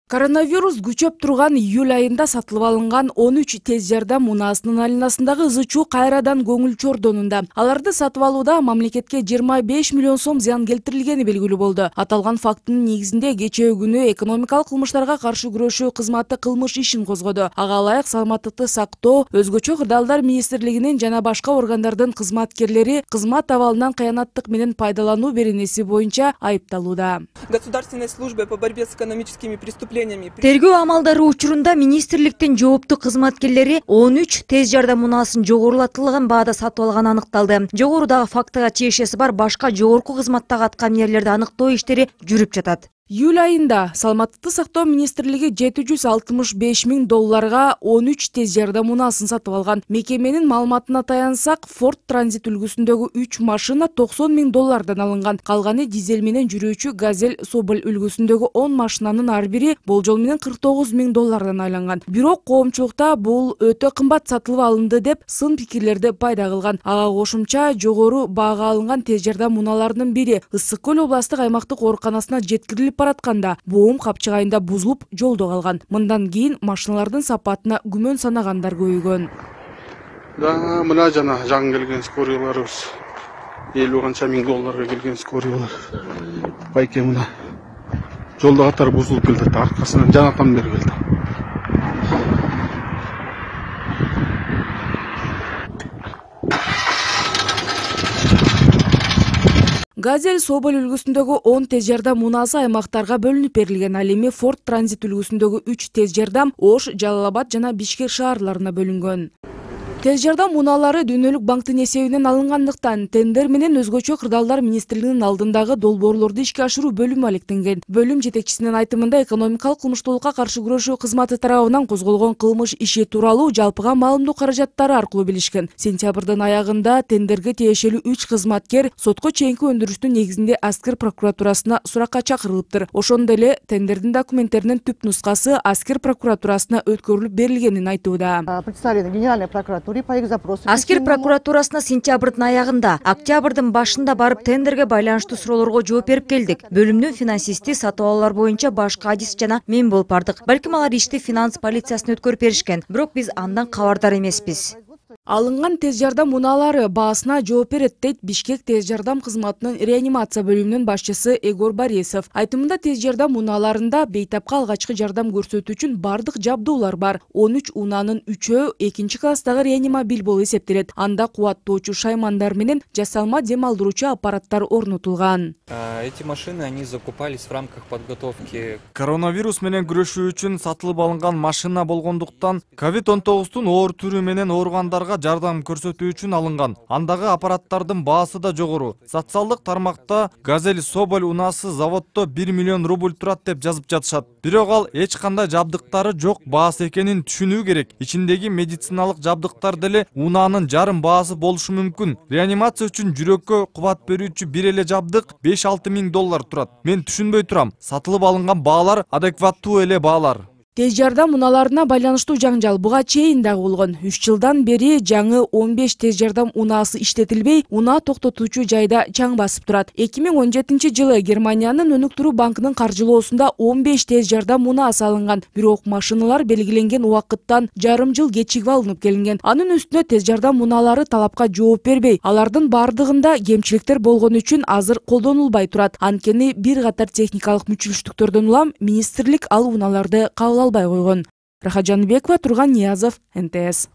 Коронавирус күчөп турган июль айында сатылып алынган 13 тез жардам унаасынын айланасындагы ызы-чуу кайрадан көңүл чордонунда. Аларды сатып алууда мамлекетке 25 миллион сом зыян келтирилгени белгилүү болду. Аталган фактынын негизинде кечээ күнү экономикалык кылмыштарга каршы күрөшүү кызматы кылмыш ишин козгоду. Ага ылайык саламаттыкты сактоо, өзгөчө кырдаалдар министрлигинин жана башка органдардын кызматкерлери кызмат абалынан кыянаттык менен пайдалануу беренеси боюнча айыпталууда. Государственной службой по борьбе с экономическими преступлениями. Тергөө амалдары учурунда министрликтин жооптуу кызматкерлери 13 тез жардам унаасын жогорулатылган баада сатып алганы аныкталды. Жогорудагы фактыга тиешеси бар башка жогорку кызматтагы аткаминерлерди аныктоо иштери жүрүп жатат. Июль айында саламаттыкты сактоо министрлиги $765 миң 13 тез жардам унаасын сатып алган. Мекеменин маалыматына таянсак, Ford Transit үлгүсүндөгү 3 машина $90 миң алынган. Калганы дизель менен жүрүүчү Газель Соболь үлгүсүндөгү 10 машинанын ар бири болжол менен $49 миң айланган. Бирок коомчулукта бул өтө кымбат сатылып алынды деп сын пикирлерди пайда кылган. Ага кошумча жогору баага алынган тез жардам унааларынын бири Ысык көл областык аймактык ооруканасына жеткирилип баратканда боом капчыгайында бузулуп жолдо калган. Мындан кийин машиналардын сапатына күмөн санагандар көбөйгөн. Мына жана жаңы келген скорияларыбыз $50 канча миң келген скориялар. Байке мына жолдо катары бузулуп келди, аркасынан жанатан бери келди. Газель Соболь үлгүсүндөгү 10 тез жардам унаасы аймактарга бөлүнүп берилген. Ал эми Ford Transit үлгүсүндөгү 3 тез жардам Ош, Жалал Абад жана Бишкек шаарларына бөлүнгөн. Тез жардам унаалары дүйнөлүк банктын эсебинен алынгандыктан тендер менен өзгөчө кырдаалдар министрлигинин алдындагы долбоорлорду ишке ашыруу бөлүмү алектенген. Бөлүм жетекчисинин айтымында экономикалык кылмыштуулукка каршы күрөшүү кызматы тарабынан козголгон кылмыш иши тууралуу жалпыга маалымдоо каражаттары аркылуу билишкен. Сентябрдын аягында тендерге тиешелүү 3 кызматкер сотко чейинки өндүрүштүн негизинде Аскер прокуратурасына суракка чакырылыптыр. Ошондой эле тендердин документтеринин түп нускасы Аскер прокуратурасына өткөрүлүп берилгенин айтууда. Представлена Генеральной прокуратуры по их запросу. Аскер прокуратурасына сентябрдын аягында, октябрдын башында барып тендерге байланыштуу суроолорго жооп берип келдик. Бөлүмдүн финансисти сатып алуулар боюнча башкы адис жана мен болуп бардык. Балким алар ишти финанс полициясына өткөрүп беришкен, бирок биз андан кабардар эмеспиз. Алынган тез жардам унаалары баасына жооп берет дейт Бишкек тез жардам кызматынын реанимация бөлүмүнүн башчысы Егор Борисов. Айтымында тез жардам унааларында бейтапка алгачкы жардам көрсөтүү үчүн бардык жабдуулар бар. 13 унаанын 3-өө 2-класстагы реанимобиль болуп эсептелет. Анда кубаттоочу шаймандар менен жасалма дем алдыруучу аппараттар орнотулган. Эти машины они закупались в рамках подготовки. Коронавирус менен күрөшүү үчүн сатылып алынган машина болгондуктан COVID-19 оор түрү менен ооругандарга жардам көрсөтүү үчүн алынган. Андагы аппараттардын баасы да жогору. Социалдык тармакта Газель Соболь унаасы заводдо 1 миллион рубль турат деп жазып жатышат. Бирок ал эч кандай жабдыктары жок баасы экенин түшүнүү керек. Ичиндеги медициналык жабдыктар деле унаанын жарым баасы болушу мүмкүн. Реанимация үчүн жүрөккө кубат берүүчү бир эле жабдык $5-6 миң турат. Мен түшүнбөй турам. Сатылып алынган баалар адекваттуу эле баалар. Тез жардам унааларына байланыштуу жаңжал буга чейин дагы болгон. 3 жылдан бери жаңы 15 тез жардам унаасы иштетилбей, унаа токтотуучу жайда чаң басып турат. 2017 жылы Германиянын өнүктүрүү банкынын каржылоосунда 15 тез жардам унаасы алынган. Бирок машиналар белгиленген убакыттан жарым жыл кечигип алынып келинген. Анын үстүнө тез жардам унаалары талапка жооп бербей, алардын бардыгында кемчиликтер болгон үчүн азыр колдонулбай турат. Анткени бир катар техникалык мүчүлүштүктөрдөн улам министрлик ал унааларды кабыл албай койгон. Рахат Жаныбекова, Турган Ниязов, НТС.